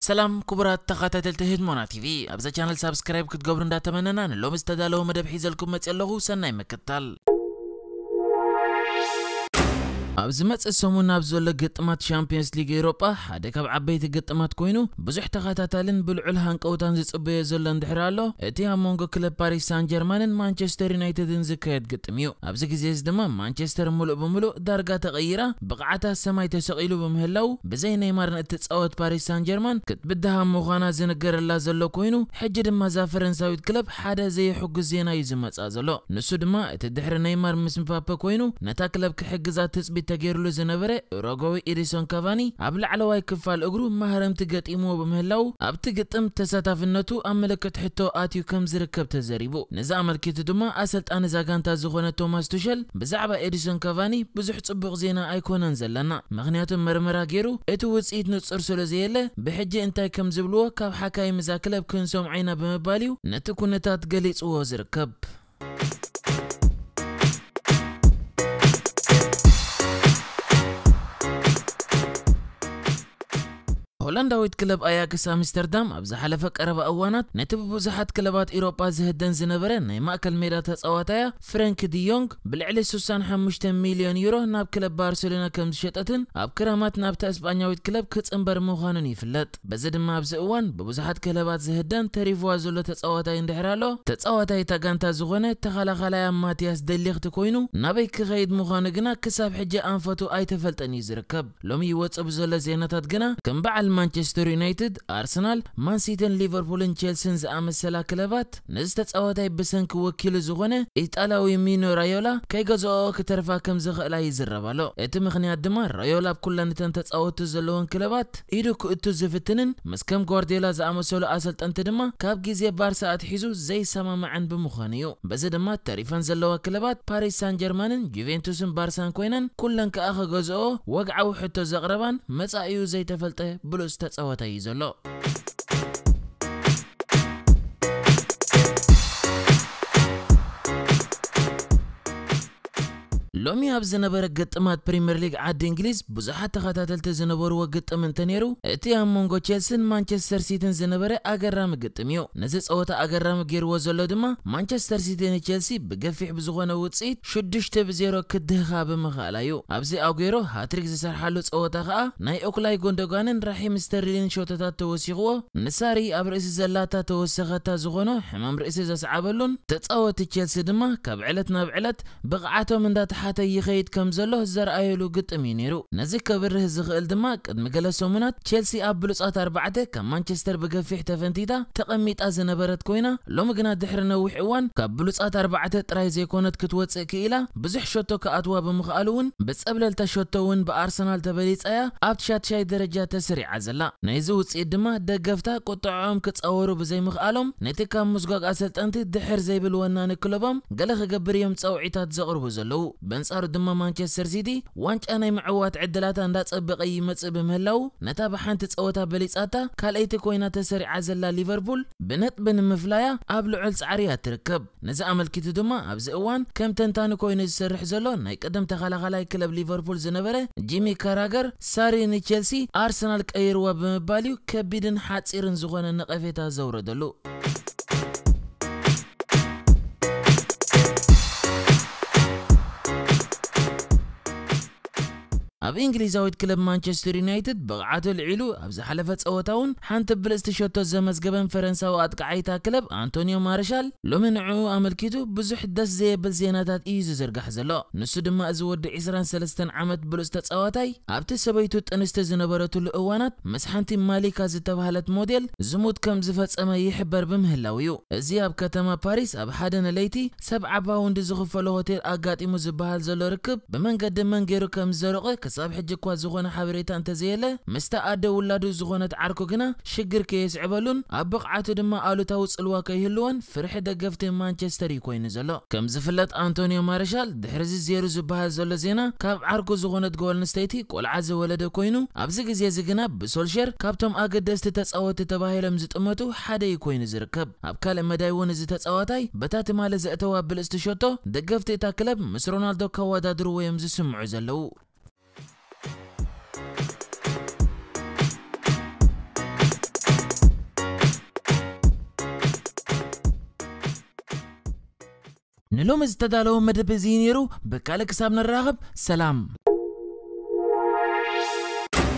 ሰላም ክቡራት ተኸታተልቲ ህድሞና ቲቪ፣ ኣብዛ ቻነል ሳብስክራይብ ክትገብሩ እንዳተመነና፣ ንሎሚ ዝተዳለወ መደብ ሒዘልኩም መፅእ ኣለኹ። ሰናይ ምክታል። ኣብ ዝመጽእ ሰሙን ኣብ ዘሎ ግጥማት ሻምፒዮንስ ሊግ ኤውሮጳ ሓደ ካብ ዓበይቲ ግጥማት ኮይኑ፣ ብዙሕ ተኸታታልን ብልዑል ሃንቀውታን ዝጽበዮ ዘሎ እንድሕር ኣሎ፣ እቲ ኣብ መንጎ ክለብ ፓሪስ ሳን ጀርማንን ማንቸስተር ዩናይትድን ዝካየድ ግጥም እዩ። ኣብዚ ግዜ እዚ ድማ ማንቸስተር ምሉእ ብምሉእ ዳርጋ ተቐይራ፣ ብቕዓታ ሰማይ ተሰቒሉ ብምህላው፣ ብዘይ ኔይማር ንእትጻወት ፓሪስ ሳን ጀርማን ክትብድሃ ምዃና ዝንገረላ ዘሎ ኮይኑ፣ ሕጂ ድማ እዛ ፈረንሳዊት ክለብ ሓደ ዘየሕጉስ ዜና እዩ ዝመጽኣ ዘሎ። ንሱ ድማ እቲ ድሕሪ ኔይማር ምስ ምባፔ ኮይኑ ነታ ክለብ ክሕግዛ ትጽቢት ተገይሩሉ ዝነበረ ኡሩጓዊ ኤዲንሶን ካቫኒ ኣብ ላዕለዋይ ክፋል እግሩ ማህረምቲ ገጢምዎ ብምህላው፣ ኣብቲ ግጥም ተሳታፍነቱ ኣብ ምልክት ሕቶ ኣትዩ ከም ዝርከብ ተዘሪቡ። ነዚ ኣመልኪቱ ድማ ኣሰልጣኒ እዛ ጋንታ ዝኾነ ቶማስ ቱሸል ብዛዕባ ኤዲንሶን ካቫኒ ብዙሕ ጽቡቕ ዜና ኣይኮነን ዘለና፣ ምኽንያቱ መርመራ ገይሩ እቲ ውጽኢት ንጹር ስለ ዘየለ፣ ብሕጂ እንታይ ከም ዝብልዎ ካብ ሓካይም እዛ ክለብ ክንሰምዖ ኢና ብምባል እዩ ነቲ ኩነታት ገሊጽዎ ዝርከብ። ሆላንዳዊት ክለብ ኣያክስ ኣምስተርዳም ኣብ ዝሓለፈ ቀረባ እዋናት ነቲ ብብዙሓት ክለባት ኢሮጳ ዝህደን ዝነበረ ናይ ማእከል ሜዳ ተጻዋታያ ፍረንክ ዲዮንግ ብልዕሊ ስሳን ሓሙሽተ ሚልዮን ዩሮ ናብ ክለብ ባርሴሎና ከም ዝሸጠትን ኣብ ክረማት ናብታ እስጳኛዊት ክለብ ክጽንበር ምዃኑን ይፍለጥ። በዚ ድማ ኣብዚ እዋን ብብዙሓት ክለባት ዝህደን ተሪፍዋ ዘሎ ተጻዋታይ እንድሕር ኣሎ፣ ተጻዋታይ እታ ጋንታ ዝኾነ ተኸላኻላይ ማቲያስ ደሊኽቲ ኮይኑ ናበይ ክኸይድ ምዃኑ ግና ክሳብ ሕጂ ኣንፈቱ ኣይተፈልጠን እዩ ዝርከብ። ሎሚ ይወጽእ ብዘሎ ዜናታት ግና ከም በዓል ማንቸስተር ዩናይትድ፣ ኣርሰናል፣ ማንሲቲን ሊቨርፑልን ቼልሲን ዝኣመሰላ ክለባት ነዚ ተጻዋታይ ብሰንኪ ወኪሉ ዝኾነ ኢጣልያዊ ሚኖ ራዮላ ከይገዝኦ ክተርፋ ከም ዝኽእላ ይዝረብ ኣሎ። እቲ ምኽንያት ድማ ራዮላ ኣብ ኩለን እተን ተጻወቱ ዘለዎን ክለባት ኢዱ ክእቱ ዝፍትንን ምስ ከም ጓርዲዮላ ዝኣመሰሉ ኣሰልጠንቲ ድማ ካብ ግዜ ባርሳ ኣትሒዙ ዘይሰማማዕን ብምዃኑ እዩ። በዚ ድማ ተሪፈን ዘለዋ ክለባት ፓሪስ ሳን ጀርማንን ጁቬንቱስን ባርሳን ኮይነን ኩለን ከኣ ክገዝኦ ወግዓዊ ሕቶ ዘቕረባን መጻኢኡ ዘይተፈልጠ ብሉጽ ተጻዋታይ እዩ ዘሎ። ሎሚ ኣብ ዝነበረ ግጥማት ፕሪምየር ሊግ ዓዲ እንግሊዝ ብዙሓት ተኸታተልቲ ዝነበርዎ ግጥም እንተነይሩ፣ እቲ ኣብ መንጎ ቼልሲን ማንቸስተር ሲቲን ዝነበረ ኣገራሚ ግጥም እዩ። ነዚ ጸወታ ኣገራሚ ገይርዎ ዘሎ ድማ ማንቸስተር ሲቲ ንቼልሲ ብገፊሕ ብዝኾነ ውጽኢት ሽዱሽተ ብዜሮ ክድህኻ ብምኽኣላ እዩ። ኣብዚ ኣጉዌሮ ሃትሪክ ዝሰርሓሉ ጸወታ ከኣ ናይ ኦክላይ ጎንደጓንን ራሒም ስተርሊን ሾቶታት ተወሲኽዎ፣ ንሳሪ ኣብ ርእሲ ዘላታ ተወሰኸታ ዝኾኖ ሕማም ርእሲ ዘስዓበሉን ተጻወቲ ቼልሲ ድማ ካብ ዕለት ናብ ዕለት ብቕዓቶም እንዳተሓተ ይኸይድ ከም ዘሎ ዘርኣየሉ ግጥም እዩ ነይሩ። ነዚ ከብርህ ዝኽእል ድማ ቅድሚ ገለ ሰሙናት ቼልሲ ኣብ ብሉጻት ኣርባዕተ ካብ ማንቸስተር ብገፊሕ ተፈንቲታ ተቐሚጣ ዝነበረት ኮይና፣ ሎሚ ግና ድሕሪ ነዊሕ እዋን ካብ ብሉጻት ኣርባዕተ ጥራይ ዘይኮነት ክትወጽእ ክኢላ፣ ብዙሕ ሸቶ ክኣትዋ ብምኽኣሉ እውን ብጸብለልታ ሸቶ እውን ብኣርሰናል ተበሊጻ እያ ኣብቲ ሻትሻይ ደረጃ ተሰሪዓ ዘላ። ናይዚ ውጽኢት ድማ ደገፍታ ቁጥዕኦም ክጻወሩ ብዘይምኽኣሎም ነቲ ካብ ምስጓግ ኣሰልጠንቲ ድሕር ዘይብል ወናኒ ክለቦም ገለ ክገብር እዮም ጸውዒታት ዘቕርቡ ዘለዉ። በንጻሩ ድማ ማንቸስተር ሲቲ ዋንጫ ናይ ምዕዋት ዕድላታ እንዳጸበቐ ይመጽእ ብምህላዉ፣ ነታ ብሓንቲ ጸወታ በሊጻታ ካልኣይቲ ኮይና ተሰሪዓ ዘላ ሊቨርፑል ብነጥቢ ንምፍላያ ኣብ ልዑል ጻዕሪ እያ ትርከብ። ነዚ ኣመልኪቱ ድማ ኣብዚ እዋን ከም ተንታኒ ኮይኑ ዝሰርሕ ዘሎ ናይ ቀደም ተኸላኻላይ ክለብ ሊቨርፑል ዝነበረ ጂሚ ካራገር፣ ሳሪ ንቼልሲ ኣርሰናል ቀይርዋ ብምባል እዩ ከቢድን ሓጺርን ዝኾነ ነቐፌታ ዘውረደሉ። ኣብ እንግሊዛዊት ክለብ ማንቸስተር ዩናይትድ ብቕዓቱ ልዒሉ ኣብ ዝሓለፈ ጸወታ እውን ሓንቲ ብልጽቲ ሸቶ ዘመዝገበን ፈረንሳዊ ኣጥቃዓይታ ክለብ ኣንቶኒዮ ማርሻል ሎሚ ንዕኡ ኣመልኪቱ ብዙሕ ደስ ዘየብል ዜናታት እዩ ዝዝርጋሕ ዘሎ። ንሱ ድማ እዚ ወዲ ዕስራን ሰለስተን ዓመት ብሉጽ ተጻዋታይ ኣብቲ ሰበይቱ ጥንስቲ ዝነበረትሉ እዋናት ምስ ሓንቲ ማሊካ ዝተባህለት ሞዴል ዝሙት ከም ዝፈጸመ ይሕበር ብምህላው እዩ። እዚ ኣብ ከተማ ፓሪስ ኣብ ሓደ ንለይቲ ሰብዓ ፓውንድ ዝኽፈሎ ሆቴል ኣጋጢሙ ዝበሃል ዘሎ ርክብ ብመንገዲ መን ገይሩ ከም ዝዘረቐ ክሳብ ሕጂ እኳ ዝኾነ ሓበሬታ እንተዘየለ፣ ምስታ ኣደ ውላዱ ዝኾነት ዓርኩ ግና ሽግር ከየስዕበሉን ኣብ ብቕዓቱ ድማ ኣሉታዊ ጽልዋ ከይህልዎን ፍርሒ ደገፍቲ ማንቸስተር እዩ ኮይኑ ዘሎ። ከም ዝፍለጥ ኣንቶኒዮ ማርሻል ድሕሪ እዚ ዜሩ ዝበሃል ዘሎ ዜና ካብ ዓርኩ ዝኾነት ጓል ኣንስተይቲ ቆልዓ ዝወለደ ኮይኑ፣ ኣብዚ ግዜ እዚ ግና ብሶልሸር ካብቶም ኣገደስቲ ተጻወትቲ ተባሂሎም ዝጥመቱ ሓደ እዩ ኮይኑ ዝርከብ። ኣብ ካልእ መዳይ እውን እዚ ተጻዋታይ በታ ትማሊ ዘእተዋ ብልጽቲ ሸቶ ደገፍቲ እታ ክለብ ምስ ሮናልዶ ከወዳድርዎ እዮም ዝስምዑ ዘለዉ። ንሎሚ ዝተዳለወ መደብ እዚ ነይሩ። ብካልእ ክሳብ ንራኸብ ሰላም።